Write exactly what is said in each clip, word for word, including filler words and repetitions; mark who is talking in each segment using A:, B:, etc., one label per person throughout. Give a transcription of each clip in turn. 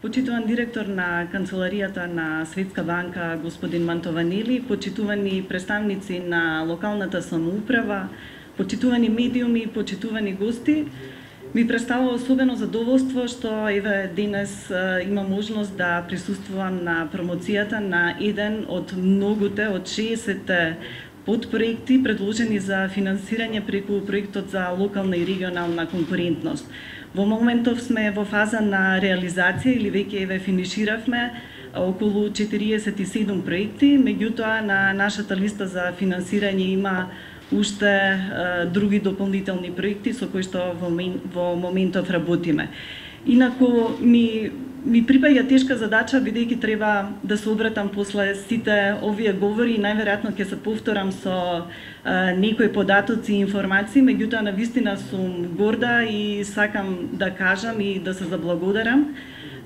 A: почитуван директор на канцеларијата на Светска банка господин Мантованели, почитувани представници на локалната самоуправа, почитувани медиуми, почитувани гости, ми представува особено задоволство што еве денес има можност да присуствувам на промоцијата на еден од многуте, од шеесет подпроекти предложени за финансирање преку проектот за локална и регионална конкурентност. Во моментов сме во фаза на реализација или веќе еве финиширавме околу четириесет и седум проекти, меѓутоа на нашата листа за финансирање има уште е, други дополнителни проекти со кои што во, во моментов работиме. Инаку ми ми припаѓа тешка задача, бидејќи треба да се обратам после сите овие говори и најверојатно ќе се повторам со е, некои податоци и информации, меѓутоа навистина сум горда и сакам да кажам и да се заблагодарам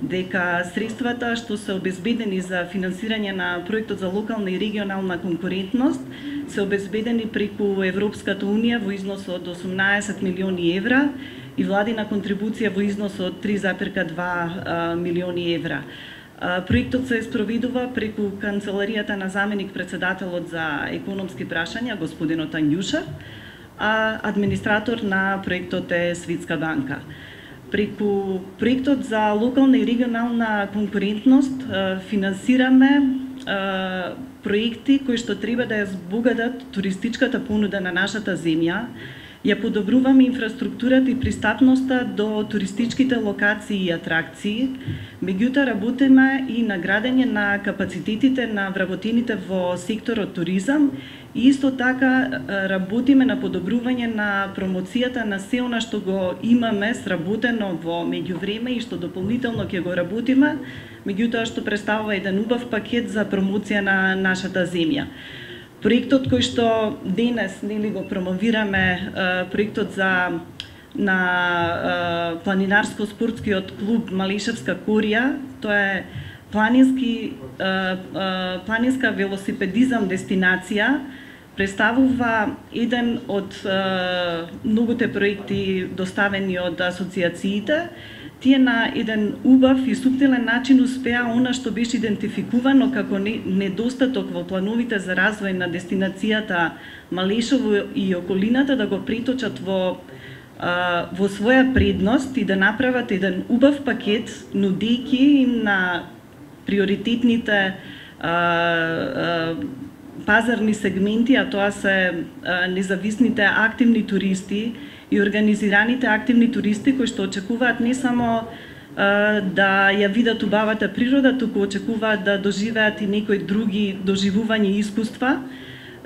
A: дека средствата што се обезбедени за финансирање на проектот за локална и регионална конкурентност се обезбедени преку Европската унија во износ од осумнаесет милиони евра и владина контрибуција во износ од три запирка два милиони евра. Проектот се спроведува преку канцеларијата на заменик председателот за економски прашања господинот Анѓушев, а администратор на проектот е Светска банка. Преку проектот за локална и регионална конкурентност финансираме проекти кои што треба да ја збогатат туристичката понуда на нашата земја, ја подобруваме инфраструктурата и пристапноста до туристичките локации и атракции, меѓутоа работиме и на градење на капацитетите на вработените во секторот туризам и исто така работиме на подобрување на промоцијата на се она што го имаме сработено во меѓувреме и што дополнително ќе го работиме, меѓутоа што представува еден убав пакет за промоција на нашата земја. Проектот кој што денес нели го промовираме, проектот за на планинарско-спортскиот клуб Малишевска корија, тоа е планински планинска велосипедизам дестинација, представува еден од многуте проекти доставени од асоциациите. Тие на еден убав и суптилен начин успеа она што беше идентификувано како недостаток во плановите за развој на дестинацијата Малешево и околината да го преточат во во своја предност и да направат еден убав пакет, нудејќи им на приоритетните а, а, пазарни сегменти, а тоа се а, независните активни туристи и организираните активни туристи кои што очекуваат не само а, да ја видат убавата природа, туку очекуваат да доживеат и некои други доживувања и искуства.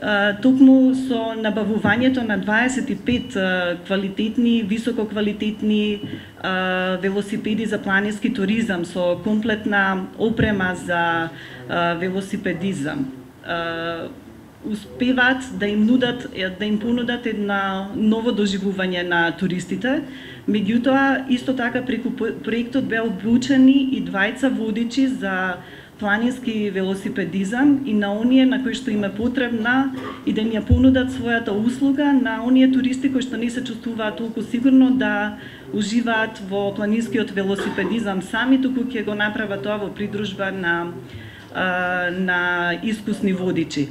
A: Uh, токму со набавувањето на дваесет и пет uh, квалитетни, висококвалитетни uh, велосипеди за планински туризам со комплетна опрема за uh, велосипедизам. Uh, успеваат да им нудат, да им понудат една ново доживување на туристите. Меѓутоа, исто така преку проектот беа обучени и двајца водичи за планински велосипедизам и на оние на кои што им е потребна и да им ја понудат својата услуга на оние туристи кои што не се чувствуваат толку сигурно да уживаат во планинскиот велосипедизам сами, туку ќе го направат тоа во придружба на на искусни водичи.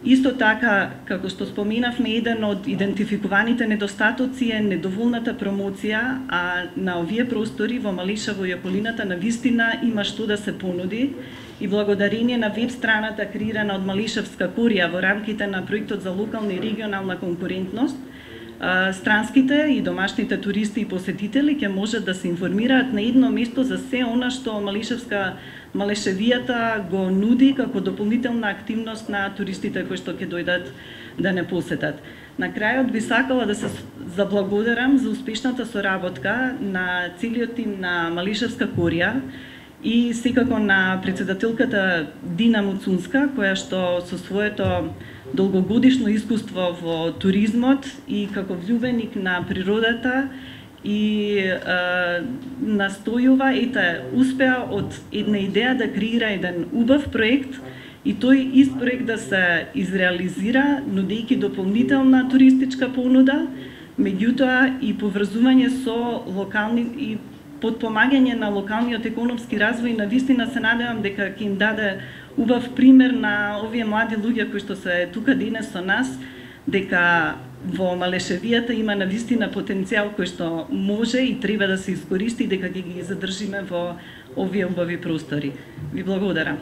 A: Исто така, како што споменавме, еден од идентификуваните недостатоци е недоволната промоција, а на овие простори во Малишево и околината навистина има што да се понуди и благодарение на веб страната креирана од Малишевска корија во рамките на проектот за локална и регионална конкурентност, странските и домашните туристи и посетители ќе можат да се информираат на едно место за се она што Малишевска Малешевијата го нуди како дополнителна активност на туристите кои што ќе дојдат да не посетат. На крајот би сакала да се заблагодарам за успешната соработка на целиот тим на Малишевска корија и секако на председателката Дина Муцунска, која што со своето долгогодишно искуство во туризмот и како влюбеник на природата и е, настојува, ете, успеа од една идеја да креира еден убав проект и тој ист проект да се изреализира, нудејќи дополнителна туристичка понуда, меѓутоа и поврзување со локални и подпомагање на локалниот економски развој, на вистина се надевам дека ќе им даде убав пример на овие млади луѓе кои што се тука денес со нас, дека во Малешевијата има на вистина потенцијал кој што може и треба да се искористи, дека ќе ги задржиме во овие убави простори. Ви благодарам.